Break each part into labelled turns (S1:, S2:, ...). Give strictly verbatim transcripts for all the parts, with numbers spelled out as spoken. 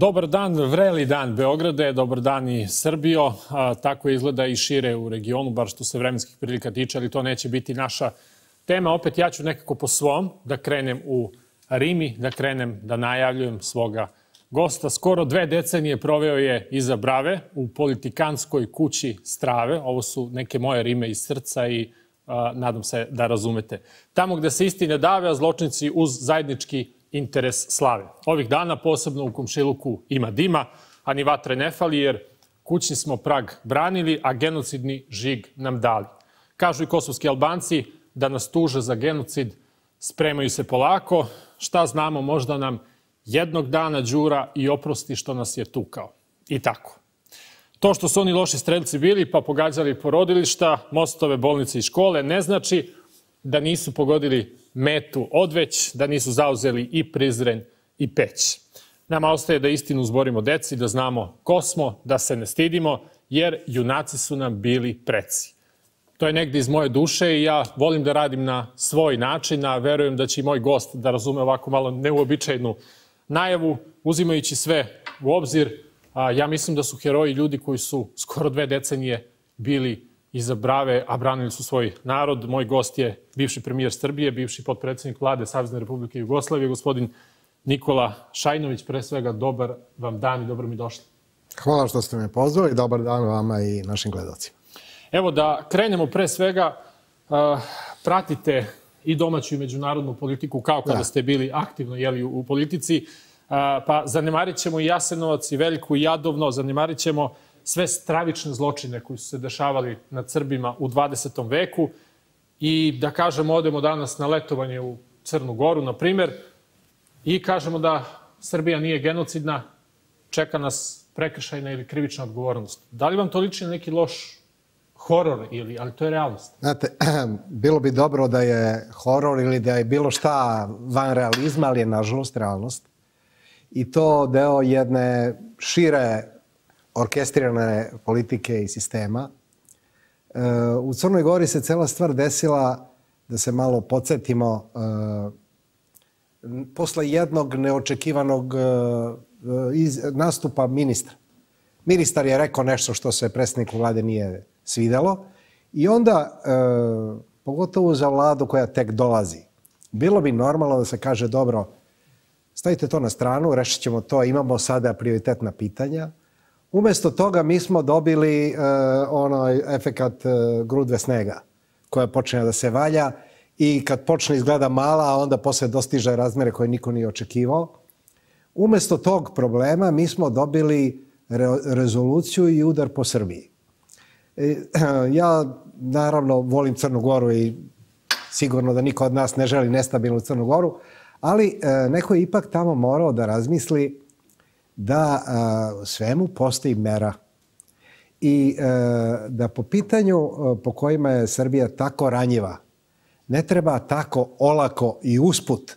S1: Dobar dan, vreli dan Beograde, dobar dan i Srbijo. Tako izgleda i šire u regionu, bar što se vremenskih prilika tiče, ali to neće biti naša tema. Opet ja ću nekako po svom da krenem u Rimi, da krenem da najavljujem svoga gosta. Skoro dve decenije proveo je iza brave u politikanskoj kući Strave. Ovo su neke moje rime iz srca i a, nadam se da razumete. Tamo gde se istine dave, a zločinci uz zajednički interes slave. Ovih dana posebno u komšiluku ima dima, a ni vatre ne fali, jer kućni smo prag branili, a genocidni žig nam dali. Kažu i kosovski Albanci da nas tuže za genocid, spremaju se polako. Šta znamo, možda nam jednog dana Đura i oprosti što nas je tukao. I tako. To što su oni loši strelci bili pa pogađali porodilišta, mostove, bolnice i škole ne znači da nisu pogodili metu odveć, da nisu zauzeli i Prizren i Peć. Nama ostaje da istinu zborimo deci, da znamo ko smo, da se ne stidimo, jer junaci su nam bili preci. To je negdje iz moje duše i ja volim da radim na svoj način, a verujem da će i moj gost da razume ovako malo neuobičajnu najavu, uzimajući sve u obzir. Ja mislim da su heroji ljudi koji su skoro dve decenije bili iza brave, a branili su svoj narod. Moj gost je bivši premijer Srbije, bivši potpredsjednik vlade Savezne Republike Jugoslavije, gospodin Nikola Šajinović. Pre svega, dobar vam dan i dobro mi došli.
S2: Hvala što ste me pozvali. Dobar dan vama i našim gledalcima.
S1: Evo da krenemo pre svega. Pratite i domaću i međunarodnu politiku kao kada ste bili aktivno jeli, u politici. Pa zanemarit ćemo i Jasenovac i Veliku i Jadovno, zanemarit ćemo sve stravične zločine koji su se dešavali nad Srbima u dvadesetom veku i da kažemo odemo danas na letovanje u Crnu Goru, na primjer, i kažemo da Srbija nije genocidna, čeka nas prekršajna ili krivična odgovornost. Da li vam to liči na neki loš horor, ili, ali to je realnost?
S2: Znate, bilo bi dobro da je horor ili da je bilo šta van realizma, ali je nažalost realnost. I to deo jedne šire orkestrirane politike i sistema. U Crnoj Gori se cela stvar desila, da se malo podsjetimo, posle jednog neočekivanog nastupa ministra. Ministar je rekao nešto što se predsjedniku vlade nije svidelo i onda, pogotovo za vladu koja tek dolazi, bilo bi normalno da se kaže dobro, stavite to na stranu, rešit ćemo to, imamo sada prioritetna pitanja. Umesto toga mi smo dobili uh, onaj efekat uh, grudve snega koja počne da se valja i kad počne izgleda mala, a onda posle dostiže razmere koje niko nije očekivao. Umesto tog problema mi smo dobili re rezoluciju i udar po Srbiji. E, ja naravno volim Crnu Goru i sigurno da niko od nas ne želi nestabilnu Crnu Goru, ali uh, neko je ipak tamo morao da razmisli da a, svemu postoji mera i a, da po pitanju a, po kojima je Srbija tako ranjiva, ne treba tako olako i usput,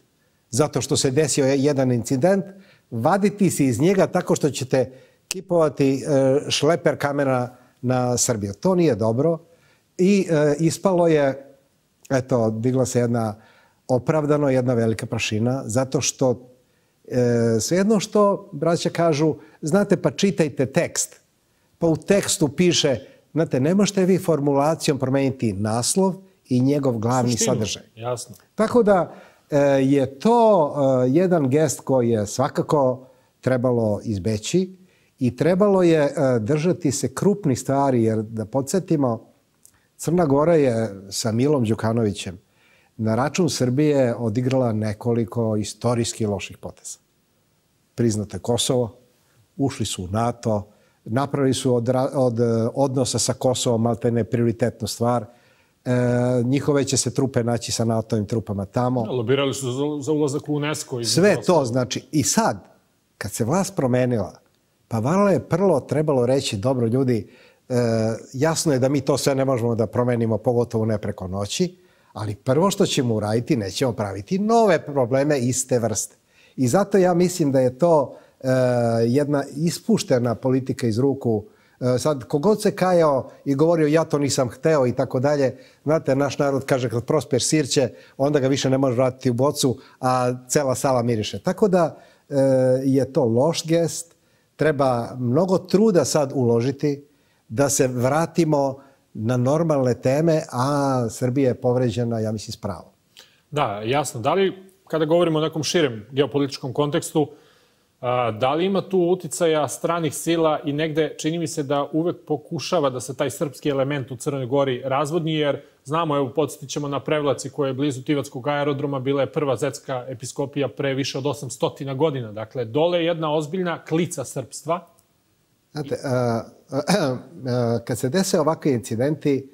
S2: zato što se desio jedan incident, vaditi se iz njega tako što ćete kipovati a, šleper kamena na Srbiju. To nije dobro i a, ispalo je, eto, digla se jedna opravdano, jedna velika prašina, zato što E, svejedno što braća kažu, znate, pa čitajte tekst. Pa u tekstu piše, znate, ne možete vi formulacijom promeniti naslov i njegov glavni Suštinu, sadržaj.
S1: Jasno.
S2: Tako da e, je to e, jedan gest koji je svakako trebalo izbeći i trebalo je e, držati se krupnih stvari, jer da podsjetimo, Crna Gora je sa Milom Đukanovićem na račun Srbije odigrala nekoliko istorijski loših poteza. Priznate Kosovo, ušli su u NATO, napravili su od, od odnosa sa Kosovom maltene prioritetnu stvar. E, njihove će se trupe naći sa NATO-ovim trupama tamo.
S1: Lobirali su za, za ulazak u UNESCO.
S2: Sve to znači. I sad, kad se vlast promenila, pa valjda je prvo trebalo reći, dobro ljudi, e, jasno je da mi to sve ne možemo da promenimo, pogotovo ne preko noći, ali prvo što ćemo uraditi, nećemo praviti nove probleme iste vrste. I zato ja mislim da je to e, jedna ispuštena politika iz ruku. E, sad, kogod se kajao i govorio ja to nisam hteo i tako dalje, znate, naš narod kaže kad prospeš sirće, onda ga više ne može vratiti u bocu, a cela sala miriše. Tako da e, je to loš gest, treba mnogo truda sad uložiti da se vratimo na normalne teme, a Srbija je povređena, ja mislim, s pravom.
S1: Da, jasno. Da li, kada govorimo o nekom širem geopolitičkom kontekstu, da li ima tu uticaja stranih sila i negde čini mi se da uvek pokušava da se taj srpski element u Crnoj Gori razvodni, jer znamo, evo, podsjetit ćemo na Prevlaci koja je blizu Tivatskog aerodroma, bila je prva zetska episkopija pre više od osamsto godina. Dakle, dole je jedna ozbiljna klica srpstva.
S2: Znate, kad se dese ovakvi incidenti,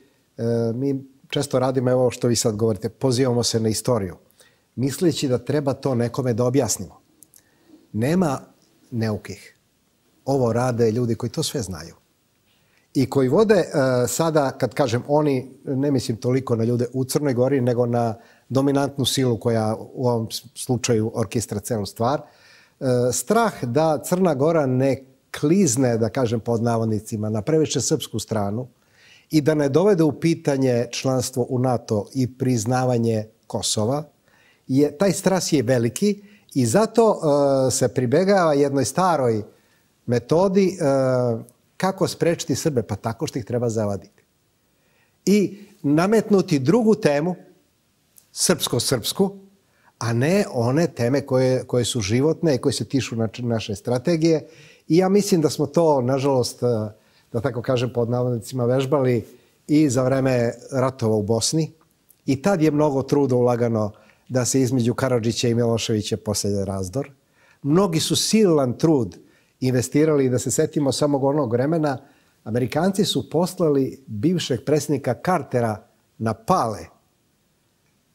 S2: mi često radimo, evo što vi sad govorite, pozivamo se na istoriju, misleći da treba to nekome da objasnimo. Nema neukih. Ovo rade ljudi koji to sve znaju. I koji vode sada, kad kažem oni, ne mislim toliko na ljude u Crnoj Gori, nego na dominantnu silu koja u ovom slučaju orkestra celu stvar, strah da Crna Gora ne klizne, da kažem pod navodnicima, na previše srpsku stranu i da ne dovede u pitanje članstvo u NATO i priznavanje Kosova, je, taj stras je veliki i zato uh, se pribegava jednoj staroj metodi uh, kako sprečiti Srbe, pa tako što ih treba zavaditi. I nametnuti drugu temu, srpsko-srpsku, a ne one teme koje, koje su životne i koje se tiču na, naše strategije. I ja mislim da smo to, nažalost, da tako kažem pod navodnicima, vežbali i za vreme ratova u Bosni. I tad je mnogo truda ulagano da se između Karadžića i Miloševića poselje razdor. Mnogi su silan trud investirali, da se setimo samog onog vremena. Amerikanci su poslali bivšeg predsjednika Cartera na Pale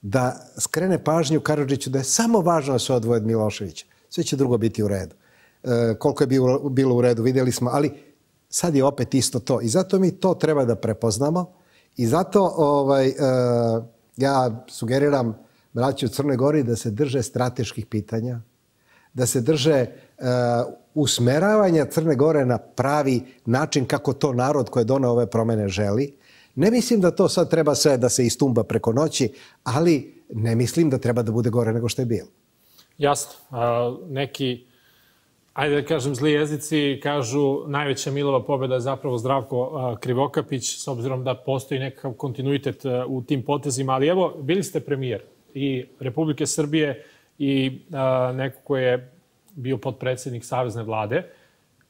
S2: da skrene pažnju Karadžiću da je samo važno da se odvoje od Miloševića. Sve će drugo biti u redu. E, koliko je bilo, bilo u redu, vidjeli smo, ali sad je opet isto to. I zato mi to treba da prepoznamo. I zato ovaj, e, ja sugeriram braći u Crnoj Gori da se drže strateških pitanja, da se drže uh, usmeravanja Crne Gore na pravi način kako to narod koji je doneo ove promjene želi. Ne mislim da to sad treba sve da se istumba preko noći, ali ne mislim da treba da bude gore nego što je bilo.
S1: Jasno. A, neki, ajde da kažem, zli jezici kažu najveća Milova pobjeda je zapravo Zdravko a, Krivokapić, s obzirom da postoji nekakav kontinuitet a, u tim potezima. Ali evo, bili ste premijer i Republike Srbije i a, neko ko je bio potpredsjednik Savezne vlade.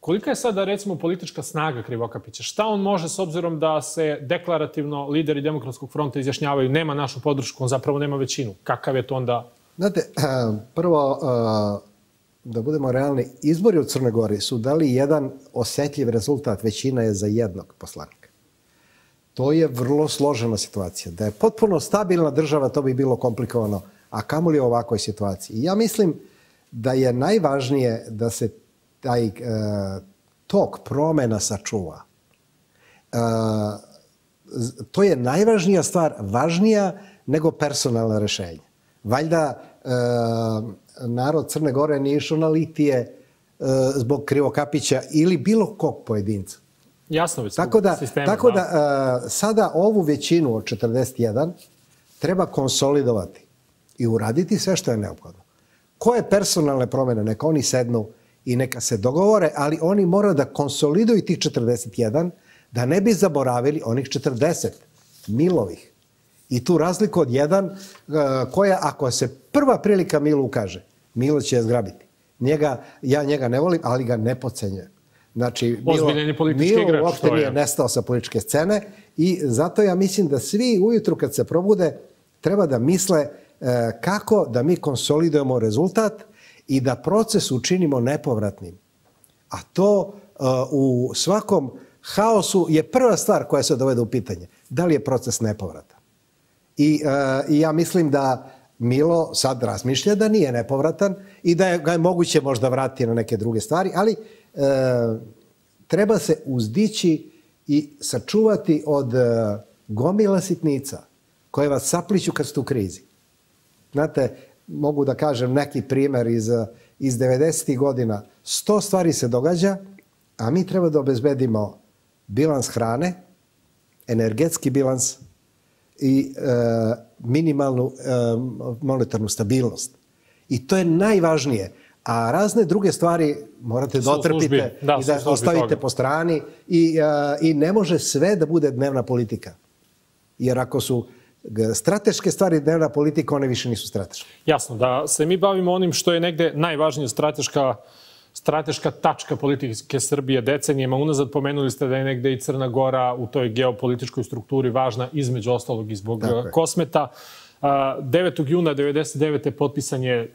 S1: Kolika je sada, recimo, politička snaga Krivokapića? Šta on može, s obzirom da se deklarativno lideri Demokratskog fronta izjašnjavaju nema našu podršku, on zapravo nema većinu? Kakav je to onda?
S2: Znate, prvo, da budemo realni, izbori u Crnoj Gori su dali jedan osjetljiv rezultat, većina je za jednog poslanika. To je vrlo složena situacija. Da je potpuno stabilna država, to bi bilo komplikovano, a kamoli u ovakvoj situaciji. I ja mislim da je najvažnije da se taj e, tok promjena sačuva. E, to je najvažnija stvar, važnija nego personalna rešenja. Valjda e, narod Crne Gore nije išao na litije e, zbog Krivokapića ili bilo kog pojedinca.
S1: Jasno već
S2: tako da,
S1: sistema.
S2: Tako da e, sada ovu većinu od četrdeset jedan treba konsolidovati i uraditi sve što je neophodno. Koje personalne promjene, neka oni sednu i neka se dogovore, ali oni moraju da konsoliduju tih četrdeset jedan, da ne bi zaboravili onih četrdeset Milovih. I tu razliku od jedan, koja ako se prva prilika Milu ukaže, Milo će je zgrabiti. Njega, ja njega ne volim, ali ga ne podcenjujem. Znači, Milo, Milo uopšte nije nestao sa političke scene i zato ja mislim da svi ujutru kad se probude treba da misle kako da mi konsolidujemo rezultat i da proces učinimo nepovratnim. A to u svakom haosu je prva stvar koja se dovede u pitanje. Da li je proces nepovratan? I, i ja mislim da Milo sad razmišlja da nije nepovratan i da je, ga je moguće možda vratiti na neke druge stvari, ali e, treba se uzdići i sačuvati od e, gomila sitnica koje vas sapliću kad ste u krizi. Znate, mogu da kažem neki primjer iz, iz devedesetih godina. Sto stvari se događa, a mi treba da obezbedimo bilans hrane, energetski bilans i e, minimalnu e, monetarnu stabilnost. I to je najvažnije. A razne druge stvari morate da otrpite i da ostavite po strani i, i ne može sve da bude dnevna politika. Jer ako su strateške stvari dnevna politika, one više nisu strateške.
S1: Jasno, da se mi bavimo onim što je negde najvažnija strateška strateška tačka politike Srbije decenijama unazad. Pomenuli ste da je negde i Crna Gora u toj geopolitičkoj strukturi važna, između ostalog i zbog Kosmeta. devetog juna devedeset devete potpisan je,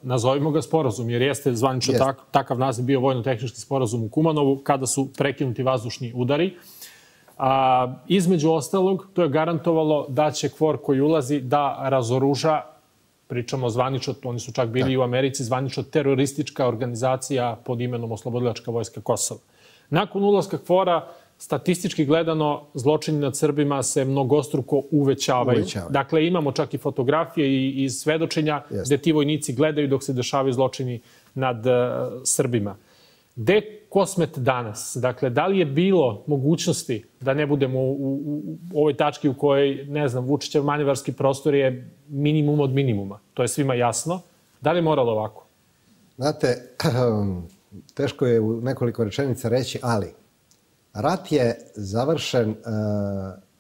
S1: nazovimo ga sporazum, jer jeste zvanično takav naziv bio vojno-tehnički sporazum u Kumanovu, kada su prekinuti vazdušni udari. A, između ostalog, to je garantovalo da će KFOR koji ulazi da razoruža, pričamo zvanično, oni su čak bili i u Americi, zvanično teroristička organizacija pod imenom Oslobodilačka vojska Kosova. Nakon ulaska KFOR-a, statistički gledano, zločini nad Srbima se mnogostruko uvećavaju. uvećavaju. Dakle, imamo čak i fotografije i, i svedočenja Jeste. gde ti vojnici gledaju dok se dešavaju zločini nad uh, Srbima. Gde je Kosmet danas? Dakle, da li je bilo mogućnosti da ne budemo u, u, u ovoj tački u kojoj, ne znam, Vučićev manevarski prostor je minimum od minimuma? To je svima jasno. Da li je moralo ovako?
S2: Znate, teško je u nekoliko rečenica reći, ali rat je završen uh,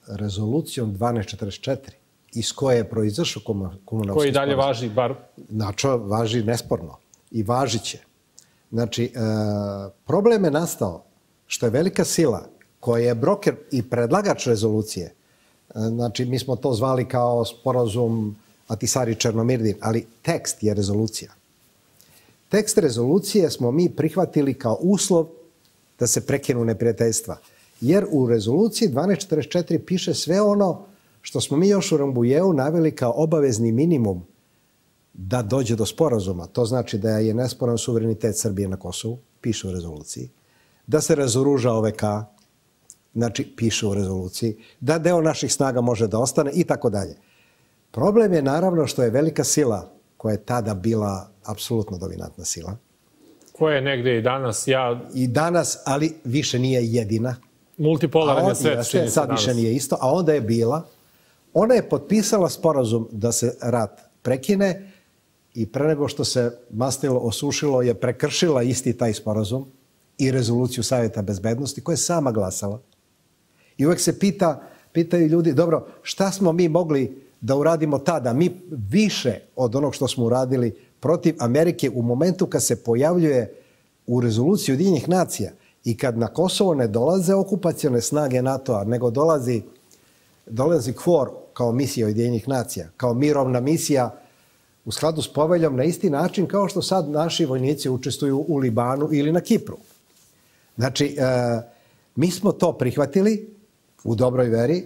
S2: rezolucijom dvanaest četrdeset četiri, iz koje je proizašao Kumanovski sporazum.
S1: Koji dalje važi, bar...
S2: Znači, važi nesporno i važit će. Znači, problem je nastao što je velika sila koja je broker i predlagač rezolucije, znači mi smo to zvali kao sporazum Ahtisaari-Černomirdin, ali tekst je rezolucija. Tekst rezolucije smo mi prihvatili kao uslov da se prekinu neprijateljstva. Jer u rezoluciji dvanaest četrdeset četiri piše sve ono što smo mi još u Rambujeu naveli kao obavezni minimum da dođe do sporazuma. To znači da je nesporan suverenitet Srbije na Kosovu, piše u rezoluciji, da se razoruža O V K, znači piše u rezoluciji, da deo naših snaga može da ostane i tako dalje. Problem je naravno što je velika sila, koja je tada bila apsolutno dominantna sila.
S1: Koja je negde i danas, ja...
S2: I danas, ali više nije jedina.
S1: Multipolaran je svet, čini se
S2: sad
S1: danas.
S2: Više nije isto, a onda je bila. Ona je potpisala sporazum da se rat prekine, i pre nego što se mastilo osušilo je prekršila isti taj sporazum i rezoluciju Savjeta bezbednosti koja je sama glasala. I uvek se pita, pitaju ljudi, dobro, šta smo mi mogli da uradimo tada? Mi više od onog što smo uradili protiv Amerike u momentu kad se pojavljuje u rezoluciji Ujedinjenih nacija i kad na Kosovo ne dolaze okupacione snage NATO-a, nego dolazi, dolazi KFOR kao misija Ujedinjenih nacija, kao mirovna misija u skladu s poveljom na isti način kao što sad naši vojnici učestvuju u Libanu ili na Kipru. Znači, mi smo to prihvatili u dobroj veri,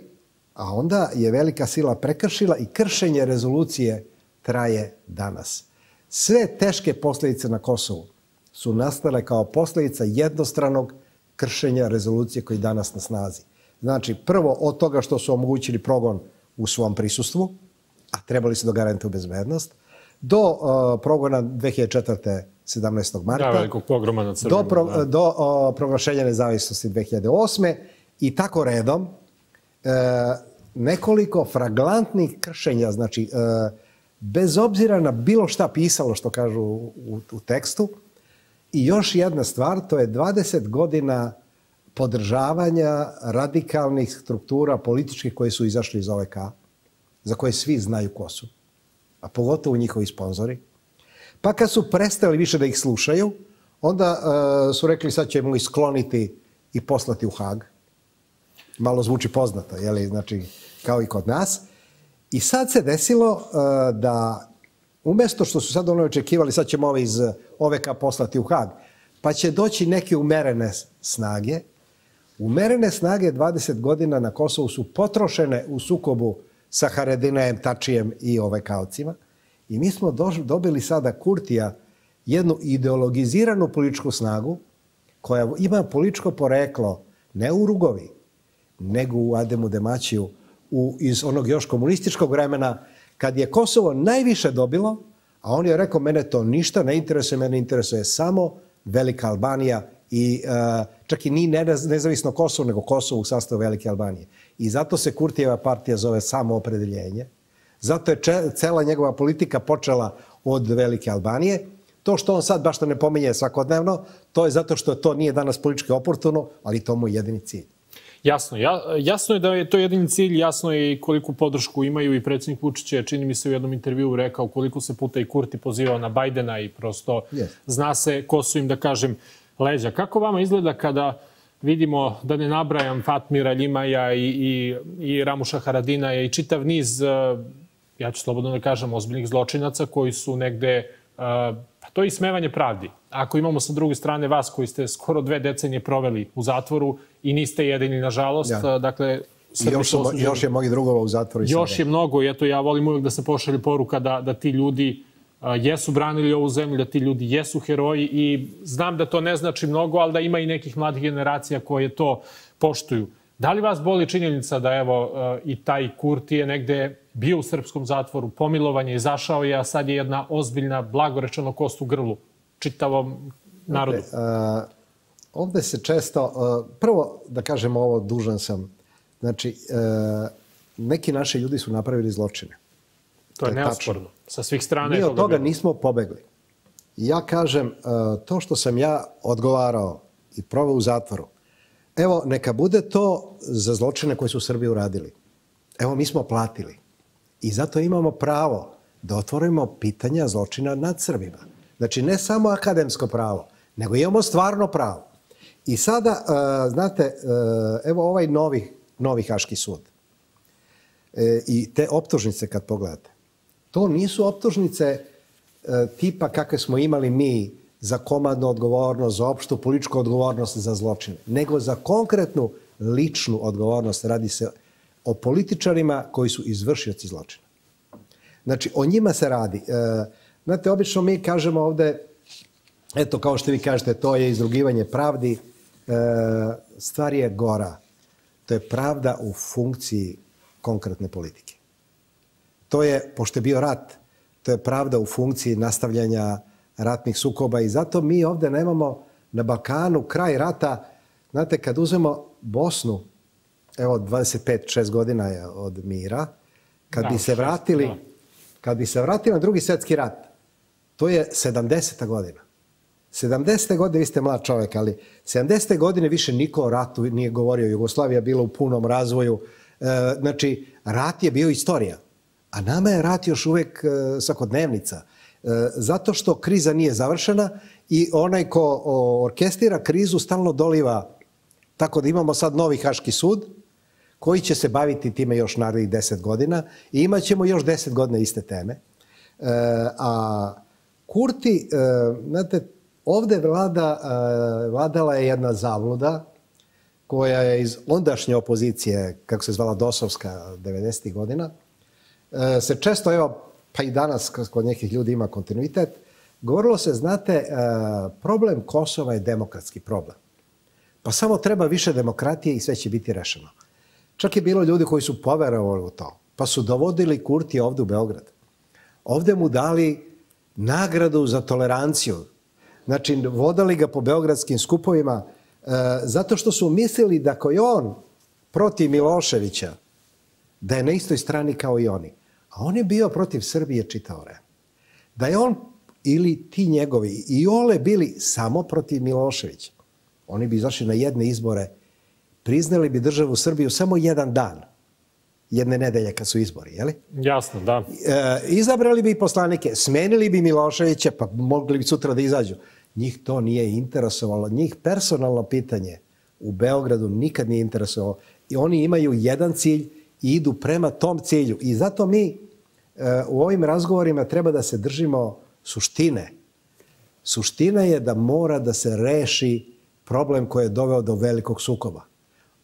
S2: a onda je velika sila prekršila i kršenje rezolucije traje danas. Sve teške posljedice na Kosovu su nastale kao posljedica jednostranog kršenja rezolucije koji je danas na snazi. Znači, prvo od toga što su omogućili progon u svom prisustvu, a trebali su da garantuju bezbednost, do uh, progona dve hiljade četvrte. sedamnaestog marta,
S1: da, velikog pogroma nad Srbima,
S2: do, pro,
S1: da.
S2: do uh, proglašenja nezavisnosti dve hiljade osme. i tako redom, uh, nekoliko fraglantnih kršenja, znači uh, bez obzira na bilo šta pisalo što kažu u, u tekstu. I još jedna stvar, to je dvadeset godina podržavanja radikalnih struktura političkih koje su izašli iz O V K, za koje svi znaju ko su, a pogotovo njihovi sponzori. Pa kad su prestali više da ih slušaju, onda uh, su rekli sad ćemo ih skloniti i poslati u Hag. Malo zvuči poznato, jeli? Znači, kao i kod nas. I sad se desilo uh, da umjesto što su sad ono očekivali, sad ćemo ove iz O V K poslati u Hag, pa će doći neke umerene snage. Umerene snage dvadeset godina na Kosovu su potrošene u sukobu sa Haredinajem, Tačijem i O V K-ovcima. I mi smo dobili sada Kurtija, jednu ideologiziranu političku snagu koja ima političko poreklo ne u Rugovi, nego u Ademu Demaćiju, u, iz onog još komunističkog vremena, kad je Kosovo najviše dobilo, a on je rekao, mene to ništa ne interesuje, mene interesuje samo Velika Albanija i uh, čak i nije nezavisno Kosovo, nego Kosovo u sastavu Velike Albanije. I zato se Kurtijeva partija zove Samoopredeljenje. Zato je če, cela njegova politika počela od Velike Albanije. To što on sad baš to ne pominje svakodnevno, to je zato što to nije danas politički oportuno, ali to mu je jedini cilj.
S1: Jasno. Ja, jasno je da je to jedini cilj, jasno je i koliku podršku imaju i predsjednik Vučić je, čini mi se u jednom intervjuu rekao koliko se puta i Kurti pozivao na Bajdena i prosto yes. zna se ko su im, da kažem, leđa. Kako vama izgleda kada vidimo, da ne nabrajam, Fatmira Ljimaja i, i, i Ramuša Haradinaja i čitav niz, ja ću slobodno da kažem, ozbiljnih zločinaca koji su negde, pa to je ismevanje pravdi. Ako imamo sa druge strane vas koji ste skoro dve decenije proveli u zatvoru i niste jedini, nažalost, ja. dakle...
S2: I još, su, još je mnogi drugova u zatvoru.
S1: Još sada. je mnogo i eto ja volim uvijek da se pošalje poruka da, da ti ljudi a, jesu branili ovu zemlju, da ti ljudi jesu heroji i znam da to ne znači mnogo, ali da ima i nekih mladih generacija koje to poštuju. Da li vas boli činjenica da evo a, i taj Kurti je negde bio u srpskom zatvoru, pomilovan je, izašao je, a sad je jedna ozbiljna, blagorečeno kost u grlu čitavom narodu?
S2: Okay, uh, ovde se često, uh, prvo da kažem ovo, dužan sam, znači, uh, neki naši ljudi su napravili zločine.
S1: To je, to je neosporno. Sa svih strana
S2: Mi
S1: je
S2: od toga bilo. nismo pobegli. Ja kažem, uh, to što sam ja odgovarao i proveo u zatvoru, evo, neka bude to za zločine koje su Srbi uradili. Evo, mi smo platili. I zato imamo pravo da otvorimo pitanja zločina nad Srbima. Znači, ne samo akademsko pravo, nego imamo stvarno pravo. I sada, uh, znate, uh, evo ovaj novi, novi Haški sud. E, I te optužnice kad pogledate, to nisu optužnice uh, tipa kakve smo imali mi za komandnu odgovornost, za opštu političku odgovornost za zločine, nego za konkretnu ličnu odgovornost. Radi se o političarima koji su izvršioci zločina. Znači, o njima se radi. Uh, Znate, obično mi kažemo ovde, eto, kao što vi kažete, to je izrugivanje pravdi. E, stvar je gora. To je pravda u funkciji konkretne politike. To je, pošto je bio rat, to je pravda u funkciji nastavljanja ratnih sukoba i zato mi ovde nemamo na Balkanu kraj rata. Znate, kad uzmemo Bosnu, evo, dvadeset pet šest godina je od mira, kad da, bi se vratili, šest, kad bi se vratili na Drugi svjetski rat, to je sedamdeseta godina. sedamdesete godine, vi ste mlad čovjek, ali sedamdesete godine više niko o ratu nije govorio. Jugoslavija je bila u punom razvoju. E, znači, rat je bio istorija. A nama je rat još uvijek e, svakodnevnica. E, zato što kriza nije završena i onaj ko o, orkestrira krizu stalno doliva. Tako da imamo sad novi Haški sud koji će se baviti time još narednih deset godina i imat ćemo još deset godina iste teme. E, a Kurti, znate, ovde vlada, vladala je jedna zavluda koja je iz ondašnje opozicije, kako se zvala Dosovska, devedesetih godina, se često, evo, pa i danas kod nekih ljudi ima kontinuitet, govorilo se, znate, problem Kosova je demokratski problem. Pa samo treba više demokratije i sve će biti rešeno. Čak je bilo ljudi koji su poverovali u to, pa su dovodili Kurti ovde u Beograd. Ovde mu dali nagradu za toleranciju. Znači, vodali ga po beogradskim skupovima e, zato što su mislili da ako je on protiv Miloševića, da je na istoj strani kao i oni. A on je bio protiv Srbije čitao vreme. Da je on ili ti njegovi i ole bili samo protiv Miloševića. Oni bi izašli na jedne izbore, priznali bi državu Srbiju samo jedan dan. Jedne nedelje kad su izbori, je li?
S1: Jasno, da.
S2: E, izabrali bi poslanike, smenili bi Miloševića, pa mogli bi sutra da izađu. Njih to nije interesovalo. Njih personalno pitanje u Beogradu nikad nije interesovalo. I oni imaju jedan cilj i idu prema tom cilju. I zato mi e, u ovim razgovorima treba da se držimo suštine. Suština je da mora da se reši problem koji je doveo do velikog sukoba.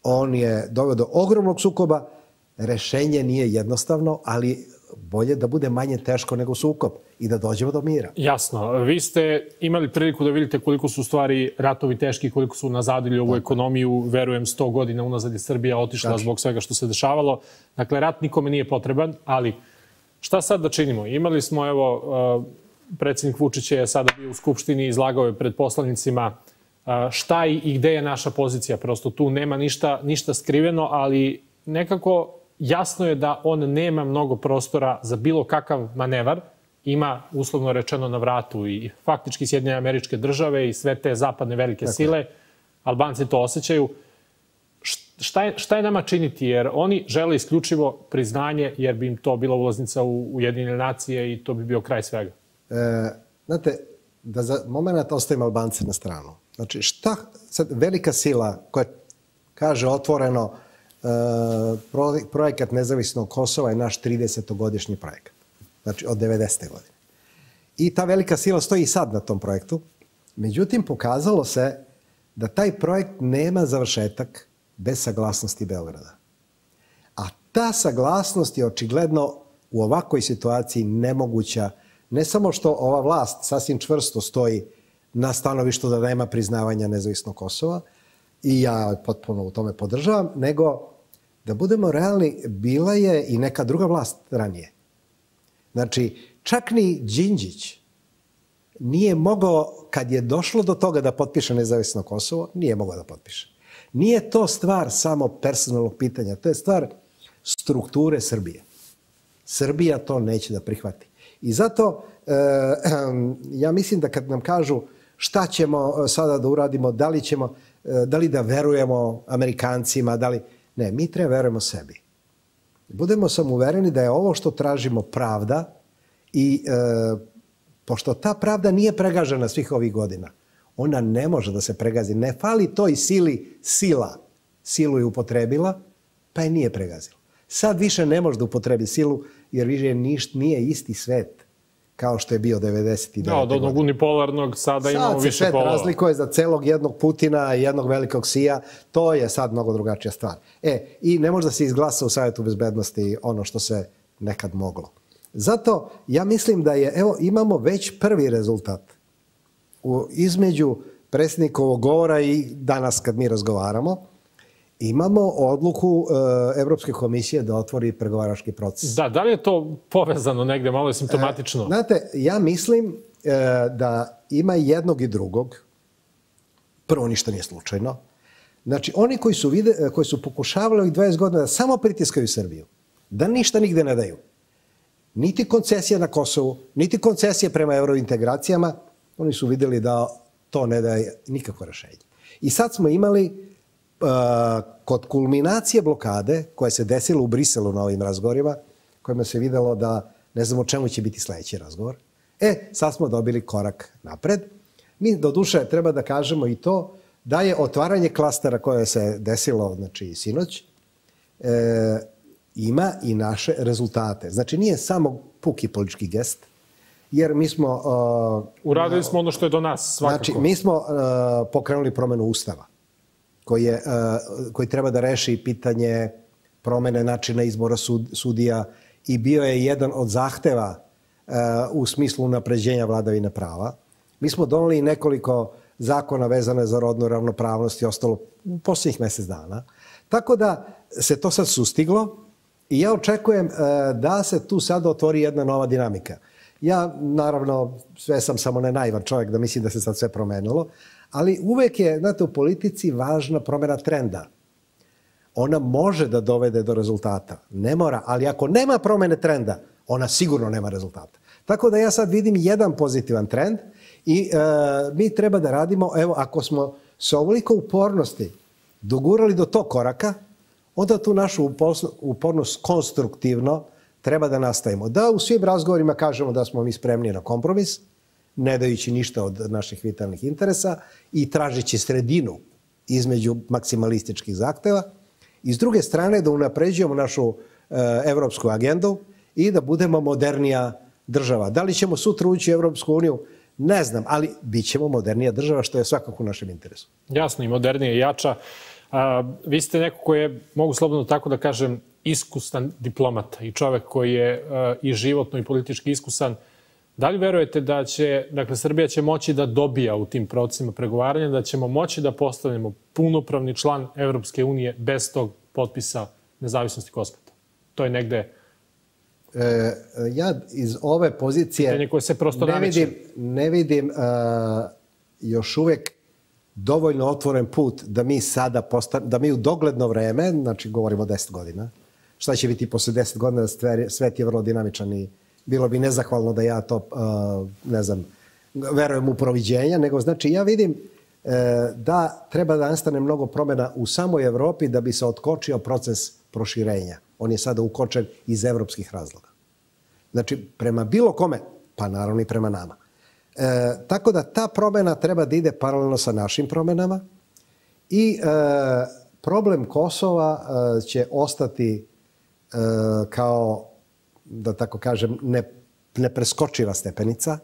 S2: On je doveo do ogromnog sukoba. Rešenje nije jednostavno, ali bolje da bude manje teško nego sukob i da dođemo do mira.
S1: Jasno. Vi ste imali priliku da vidite koliko su stvari ratovi teški, koliko su nazadili ovu ekonomiju. Verujem, sto godina unazad je Srbija otišla Tači. zbog svega što se dešavalo. Dakle, rat nikome nije potreban, ali šta sad da činimo? Imali smo, evo, predsjednik Vučić je sada bio u Skupštini, izlagao je pred poslanicima šta i gde je naša pozicija. Prosto tu nema ništa, ništa skriveno, ali nekako jasno je da on nema mnogo prostora za bilo kakav manevar ima, uslovno rečeno, na vratu i faktički Sjedinjene Američke Države i sve te zapadne velike sile. Albanci to osjećaju. Šta je, šta je nama činiti? Jer oni žele isključivo priznanje, jer bi im to bila ulaznica u Ujedinjene nacije i to bi bio kraj svega.
S2: E, znate, da za moment ostavimo Albance na stranu. Znači, šta sad velika sila koja kaže otvoreno e, projekat nezavisnog Kosova je naš tridesetogodišnji projekat. Znači, od devedesete godine. I ta velika sila stoji i sad na tom projektu. Međutim, pokazalo se da taj projekt nema završetak bez saglasnosti Beograda. A ta saglasnost je očigledno u ovakvoj situaciji nemoguća. Ne samo što ova vlast sasvim čvrsto stoji na stanovištu da nema priznavanja nezavisnog Kosova, i ja potpuno u tome podržavam, nego da budemo realni, bila je i neka druga vlast ranije. Znači, čak ni Đinđić nije mogao, kad je došlo do toga da potpiše nezavisno Kosovo, nije mogao da potpiše. Nije to stvar samo personalnog pitanja, to je stvar strukture Srbije. Srbija to neće da prihvati. I zato e, ja mislim da kad nam kažu šta ćemo sada da uradimo, da li ćemo, da li da verujemo Amerikancima, da li... Ne, mi treba verujemo sebi. Budemo samo uvereni da je ovo što tražimo pravda i e, pošto ta pravda nije pregažena svih ovih godina, ona ne može da se pregazi. Ne fali toj sili sila. Silu je upotrebila, pa je nije pregazila. Sad više ne može da upotrebi silu, jer više ništa nije isti svet kao što je bio devedeset devete.
S1: Da, od onog unipolarnog sada imamo više polova.
S2: Sad se svet razlikuje za celog jednog Putina i jednog velikog Sija. To je sad mnogo drugačija stvar. E, i ne može da se izglasa u Savjetu bezbednosti ono što se nekad moglo. Zato ja mislim da je, evo, imamo već prvi rezultat u, između predsjednikovog govora i danas kad mi razgovaramo. Imamo odluku e, Evropske komisije da otvori pregovarački proces.
S1: Da, da li je to povezano negde, malo je simptomatično?
S2: E, znate, ja mislim e, da ima jednog i drugog. Prvo, ništa nije slučajno. Znači, oni koji su, vide, koji su pokušavali ovih dvadeset godina da samo pritiskaju Srbiju, da ništa nigde ne daju, niti koncesija na Kosovu, niti koncesije prema eurointegracijama, oni su vidjeli da to ne daje nikakvo rešenje. I sad smo imali kod kulminacije blokade koja se desila u Briselu na ovim razgovorima, kojima se videlo da ne znamo o čemu će biti sljedeći razgovor. E, sad smo dobili korak napred. Mi, do duše, treba da kažemo i to da je otvaranje klastera koje se desilo, znači, sinoć, e, ima i naše rezultate. Znači, nije samo puki politički gest, jer mi smo... Uh,
S1: Uradili smo ono što je do nas, svakako.
S2: Znači, mi smo uh, pokrenuli promjenu Ustava, koji, je, koji treba da reši pitanje promene načina izbora sud, sudija i bio je jedan od zahteva u smislu unapređenja vladavine prava. Mi smo doneli nekoliko zakona vezane za rodnu ravnopravnost i ostalo u posljednjih mjesec dana. Tako da se to sad sustiglo i ja očekujem da se tu sad otvori jedna nova dinamika. Ja, naravno, sve sam samo ne naivan čovjek da mislim da se sad sve promenilo, ali uvek je, znate, u politici važna promjena trenda. Ona može da dovede do rezultata. Ne mora, ali ako nema promjene trenda, ona sigurno nema rezultata. Tako da ja sad vidim jedan pozitivan trend i e, mi treba da radimo, evo, ako smo sa ovoliko upornosti dogurali do tog koraka, onda tu našu upornost konstruktivno treba da nastavimo. Da u svim razgovorima kažemo da smo mi spremni na kompromis, ne dajući ništa od naših vitalnih interesa i tražeći sredinu između maksimalističkih zahteva. I s druge strane da unapređujemo našu e, evropsku agendu i da budemo modernija država. Da li ćemo sutra ući u Evropsku uniju? Ne znam, ali bit ćemo modernija država, što je svakako u našem interesu.
S1: Jasno, i modernija i jača. A, vi ste neko koji je, mogu slobodno tako da kažem, iskusan diplomata i čovek koji je a, i životno i politički iskusan. Da li verujete da će, dakle, Srbija će moći da dobija u tim procesima pregovaranja, da ćemo moći da postanemo punopravni član Evropske unije bez tog potpisa nezavisnosti Kosova? To je negde...
S2: E, ja iz ove pozicije
S1: pitanje koje se prosto
S2: ne vidim, ne vidim uh, još uvijek dovoljno otvoren put da mi sada postan, da mi u dogledno vreme, znači govorimo o deset godina, šta će biti posle deset godina, svet je vrlo dinamičan i bilo bi nezahvalno da ja to, ne znam, verujem u proviđenja, nego znači ja vidim da treba da nastane mnogo promjena u samoj Evropi da bi se otkočio proces proširenja. On je sada ukočen iz evropskih razloga. Znači, prema bilo kome, pa naravno i prema nama. E, tako da ta promjena treba da ide paralelno sa našim promjenama i e, problem Kosova e, će ostati e, kao, da tako kažem, ne, nepreskočiva stepenica,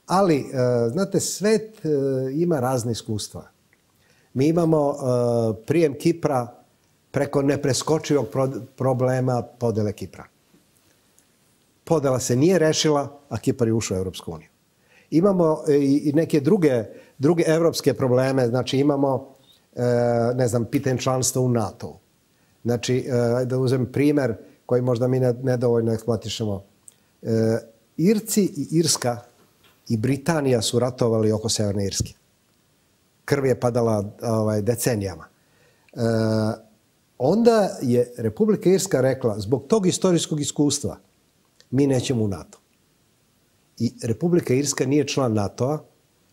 S2: ali, e, znate, svet e, ima razne iskustva. Mi imamo e, prijem Kipra preko nepreskočivog pro, problema podele Kipra. Podela se nije rešila, a Kipar je ušao u Evropsku uniju. Imamo i neke druge, druge evropske probleme, znači imamo, ne znam, pitanje članstva u NATO-u. Znači, da uzem primer koji možda mi nedovoljno eksploatišemo. Irci i Irska i Britanija su ratovali oko Severne Irske. Krv je padala ovaj, decenijama. Onda je Republika Irska rekla, zbog tog istorijskog iskustva, mi nećemo u NATO. I Republika Irska nije član NATO-a,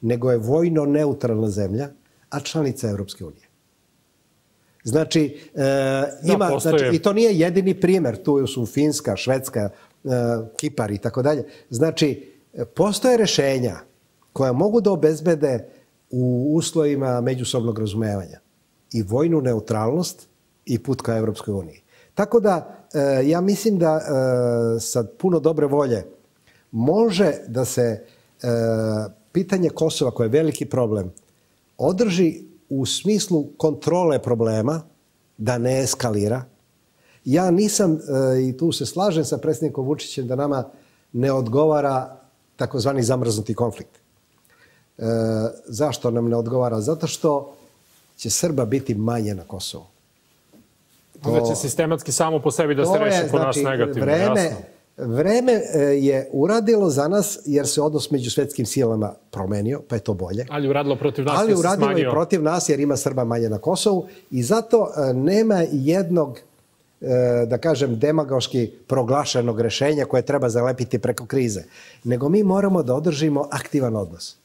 S2: nego je vojno neutralna zemlja, a članica Evropske unije. Znači, e, ima, da, znači, i to nije jedini primjer. Tu su Finska, Švedska, e, Kipar i tako dalje. Znači, postoje rešenja koja mogu da obezbede u uslovima međusobnog razumevanja i vojnu neutralnost i put ka Evropskoj uniji. Tako da, e, ja mislim da e, sa puno dobre volje može da se e, pitanje Kosova, koje je veliki problem, održi u smislu kontrole problema, da ne eskalira. Ja nisam, e, i tu se slažem sa predsjednikom Vučićem, da nama ne odgovara takozvani zamrznuti konflikt. E, zašto nam ne odgovara? Zato što će Srba biti manje na Kosovu.
S1: Onda će sistematski samo po sebi da se reši po nas negativno.
S2: Vreme, vreme je uradilo za nas, jer se odnos među svetskim silama promenio, pa je to bolje.
S1: Ali uradilo protiv nas.
S2: Ali uradilo i protiv nas, jer ima Srba manje na Kosovu. I zato nema jednog, da kažem, demagoški proglašenog rešenja koje treba zalepiti preko krize. Nego mi moramo da održimo aktivan odnos.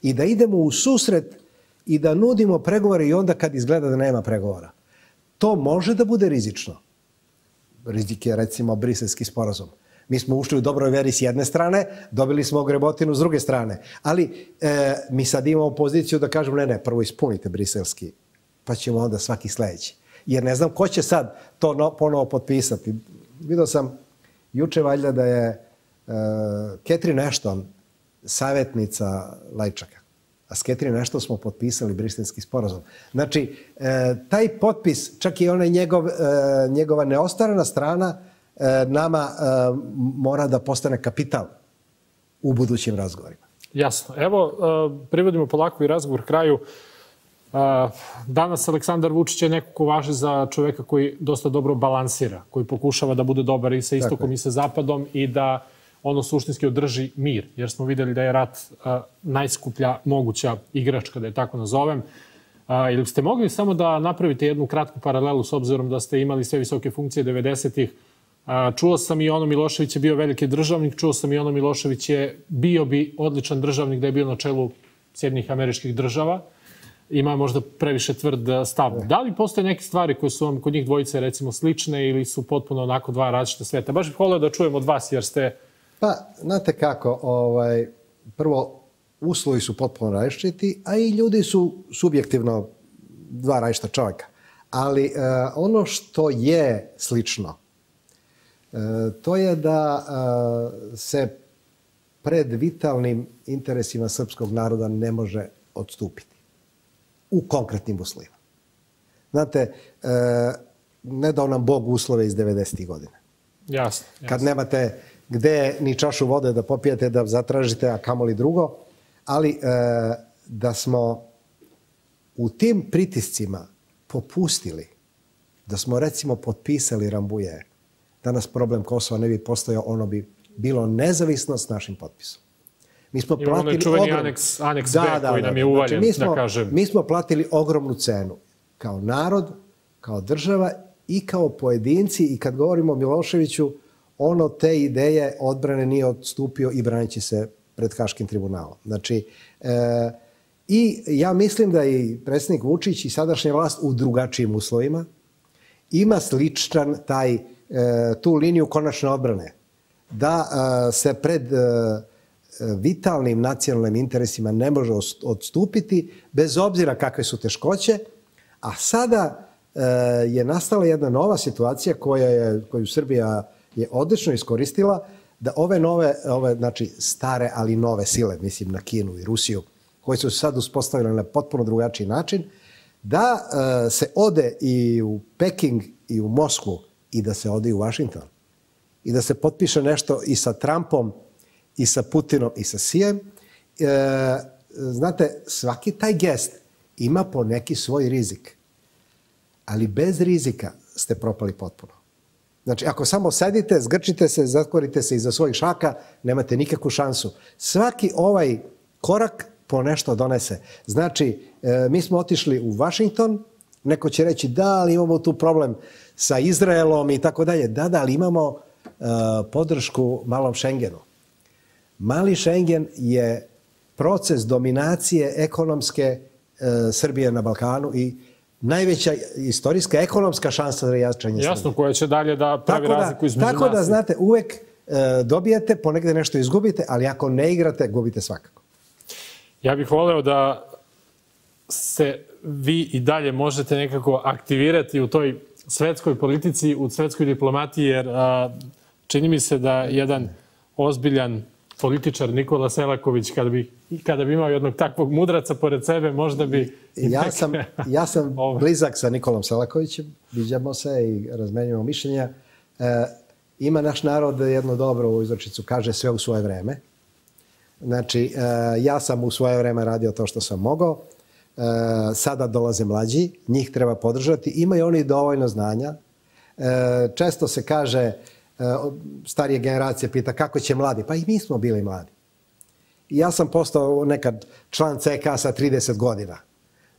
S2: I da idemo u susret i da nudimo pregovore i onda kad izgleda da nema pregovora. To može da bude rizično. Rizik je, recimo, briselski sporazum. Mi smo ušli u dobroj veri s jedne strane, dobili smo ogrebotinu s druge strane. Ali e, mi sad imamo poziciju da kažemo, ne, ne, prvo ispunite briselski, pa ćemo onda svaki sljedeći. Jer ne znam ko će sad to no, ponovo potpisati. Vidio sam juče valjda da je e, Catherine Ashton, savjetnica Lajčaka. A s Catherine Ashton smo potpisali briselski sporazum. Znači, e, taj potpis, čak i onaj njegov, e, njegova neostarana strana, e, nama e, mora da postane kapital u budućim razgovorima.
S1: Jasno. Evo, e, privodimo polako i razgovor kraju. E, danas Aleksandar Vučić je neko ko važi za čoveka koji dosta dobro balansira, koji pokušava da bude dobar i sa istokom i sa zapadom i da ono suštinski održi mir, jer smo videli da je rat a, najskuplja moguća igračka, da je tako nazovem. A, ili ste mogli samo da napravite jednu kratku paralelu s obzirom da ste imali sve visoke funkcije devedesetih. Čuo sam i ono Milošević je bio veliki državnik, čuo sam i ono Milošević je bio bi odličan državnik da je bio na čelu Sjedinjenih Američkih Država. Ima možda previše tvrd stav. Da li postoje neke stvari koje su vam kod njih dvojice recimo slične ili su potpuno onako dva različita sveta? Baš bih volio da čujem od vas jer ste...
S2: Pa, znate kako, ovaj, prvo, uslovi su potpuno različiti, a i ljudi su subjektivno dva različita čovjeka. Ali e, ono što je slično, e, to je da e, se pred vitalnim interesima srpskog naroda ne može odstupiti u konkretnim uslovima. Znate, e, ne dao nam Bog uslove iz devedesetih godina.
S1: Jasno, jasno.
S2: Kad nemate gde ni čašu vode da popijete, da zatražite, a kamoli drugo. Ali e, da smo u tim pritiscima popustili, da smo recimo potpisali Rambuje, danas problem Kosova ne bi postojao, ono bi bilo nezavisno s našim potpisom. Mi smo
S1: Imamo
S2: platili
S1: čuveni
S2: ogrom...
S1: aneks, aneks
S2: da,
S1: B
S2: da,
S1: koji
S2: da,
S1: nam je
S2: da.
S1: uvaljen,
S2: Znači, mi smo,
S1: da kažem.
S2: Mi smo platili ogromnu cenu kao narod, kao država i kao pojedinci. I kad govorimo o Miloševiću, on od te ideje odbrane nije odstupio i braneći se pred Haškim tribunalom. Znači, e, i ja mislim da i predsjednik Vučić i sadašnja vlast u drugačijim uslovima ima sličan taj, e, tu liniju konačne odbrane. Da e, se pred e, vitalnim nacionalnim interesima ne može odstupiti, bez obzira kakve su teškoće, a sada e, je nastala jedna nova situacija koja je, koju Srbija je odlično iskoristila, da ove nove, ove, znači stare, ali nove sile, mislim na Kinu i Rusiju, koje su se sad uspostavile na potpuno drugačiji način, da e, se ode i u Peking i u Moskvu i da se ode i u Vašington. I da se potpiše nešto i sa Trumpom, i sa Putinom, i sa Sijem. E, znate, svaki taj gest ima po neki svoj rizik. Ali bez rizika ste propali potpuno. Znači, ako samo sedite, zgrčite se, zatvorite se iza svojih šaka, nemate nikakvu šansu. Svaki ovaj korak po nešto donese. Znači, e, mi smo otišli u Vašington, neko će reći da, ali imamo tu problem sa Izraelom i tako dalje. Da, da, ali imamo e, podršku malom Šengenu. Mali Šengen je proces dominacije ekonomske e, Srbije na Balkanu i najveća istorijska ekonomska šansa za jačanje Srbije.
S1: Jasno, koja će dalje da pravi
S2: tako da,
S1: razliku između nas.
S2: Tako da, znate, uvek e, dobijete, ponegde nešto izgubite, ali ako ne igrate, gubite svakako.
S1: Ja bih voleo da se vi i dalje možete nekako aktivirati u toj svetskoj politici, u svetskoj diplomatiji, jer a, čini mi se da jedan ozbiljan političar Nikola Selaković, kada bi, kada bi imao jednog takvog mudraca pored sebe, možda bi...
S2: Ja sam, ja sam blizak sa Nikolom Selakovićem, viđamo se i razmenjujemo mišljenja. E, ima naš narod jednu dobru uzrečicu, kaže sve u svoje vreme. Znači, e, ja sam u svoje vreme radio to što sam mogao. E, sada dolaze mlađi, njih treba podržati. Imaju oni dovoljno znanja. E, često se kaže, starije generacije pita kako će mladi. Pa i mi smo bili mladi. I ja sam postao nekad član C K sa trideset godina.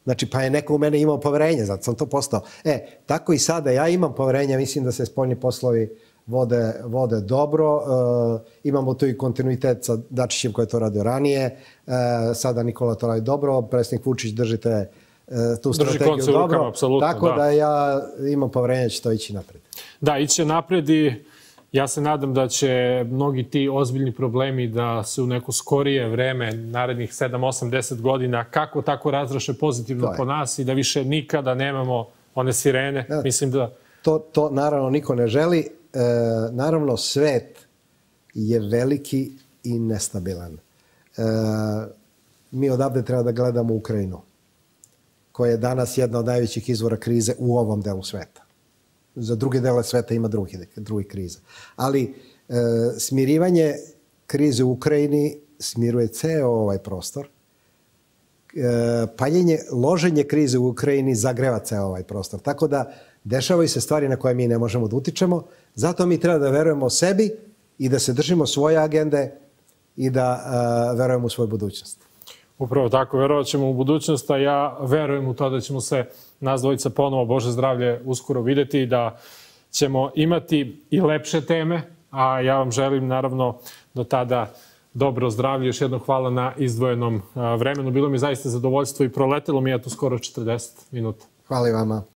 S2: Znači, pa je neko u mene imao poverenje, zato sam to postao. E, tako i sada ja imam poverenje, mislim da se spoljni poslovi vode, vode dobro. E, imamo tu i kontinuitet sa Dačićem koji je to radio ranije. E, sada Nikola to radi dobro, predsjednik Vučić držite e, tu strategiju
S1: Drži
S2: dobro.
S1: Rukama, apsolutno,
S2: tako da. da ja imam poverenje da će to ići napred.
S1: Da, iće napred i ja se nadam da će mnogi ti ozbiljni problemi da se u neko skorije vreme, narednih sedam, osam, deset godina, kako tako razraše pozitivno po nas i da više nikada nemamo one sirene. Ja, mislim da...
S2: To, to naravno niko ne želi. E, naravno, svet je veliki i nestabilan. E, mi odavde treba da gledamo Ukrajinu, koja je danas jedna od najvećih izvora krize u ovom delu sveta. Za druge dele sveta ima drugi, drugi kriza. Ali e, smirivanje krize u Ukrajini smiruje ceo ovaj prostor. E, paljenje, loženje krize u Ukrajini zagreva ceo ovaj prostor. Tako da dešavaju se stvari na koje mi ne možemo da utičemo. Zato mi treba da verujemo sebi i da se držimo svoje agende i da e, verujemo u svoju budućnost.
S1: Upravo tako, verovat ćemo u budućnost, a ja verujem u to da ćemo se nas dvojica ponovo, Bože zdravlje, uskoro videti i da ćemo imati i lepše teme, a ja vam želim naravno do tada dobro zdravlje. Još jedno hvala na izdvojenom vremenu. Bilo mi zaista zadovoljstvo i proletelo mi je tu skoro četrdeset minuta.
S2: Hvala i vama.